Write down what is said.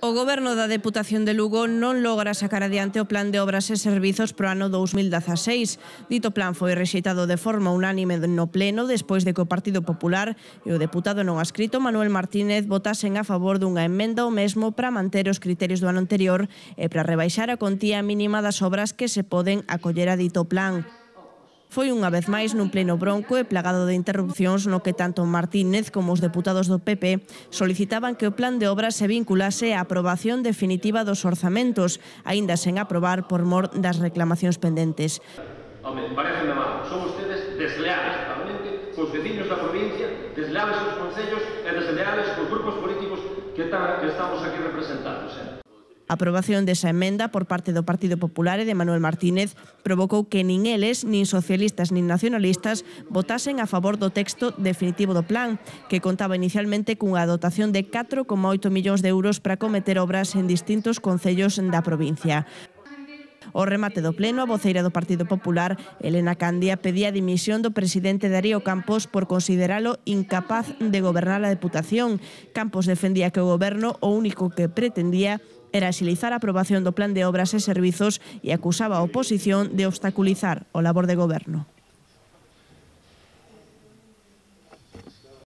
O Goberno da Deputación de Lugo non logra sacar adiante o Plan de Obras e Servizos pro ano 2016. Dito plan foi rexeitado de forma unánime no Pleno despois de que o Partido Popular e o deputado non adscrito Manuel Martínez votasen a favor dunha emenda ao mesmo para manter os criterios do ano anterior e para rebaixar a contía mínima das obras que se poden acoller a dito plan. Foi unha vez máis nun pleno bronco e plagado de interrupcións no que tanto Martínez como os deputados do PP solicitaban que o plan de obras se vinculase á aprobación definitiva dos orzamentos, aínda sen aprobar por mor das reclamacións pendentes. Home, pareceme mal, son ustedes desleales totalmente cos veciños da provincia, desleales cos concellos e desleales cos grupos políticos que estamos aquí representados. A aprobación desa emenda por parte do Partido Popular e de Manuel Martínez provocou que nin eles, nin socialistas nin nacionalistas votasen a favor do texto definitivo do plan, que contaba inicialmente cunha dotación de 4,8 millóns de euros para cometer obras en distintos concellos da provincia. Ao remate do pleno, a voceira do Partido Popular, Elena Candia, pedía a dimisión do presidente Darío Campos por consideralo incapaz de gobernar a Deputación. Campos defendía que o goberno o único que pretendía era axilizar a aprobación do Plan de Obras e Servizos e acusaba a oposición de obstaculizar o labor de goberno.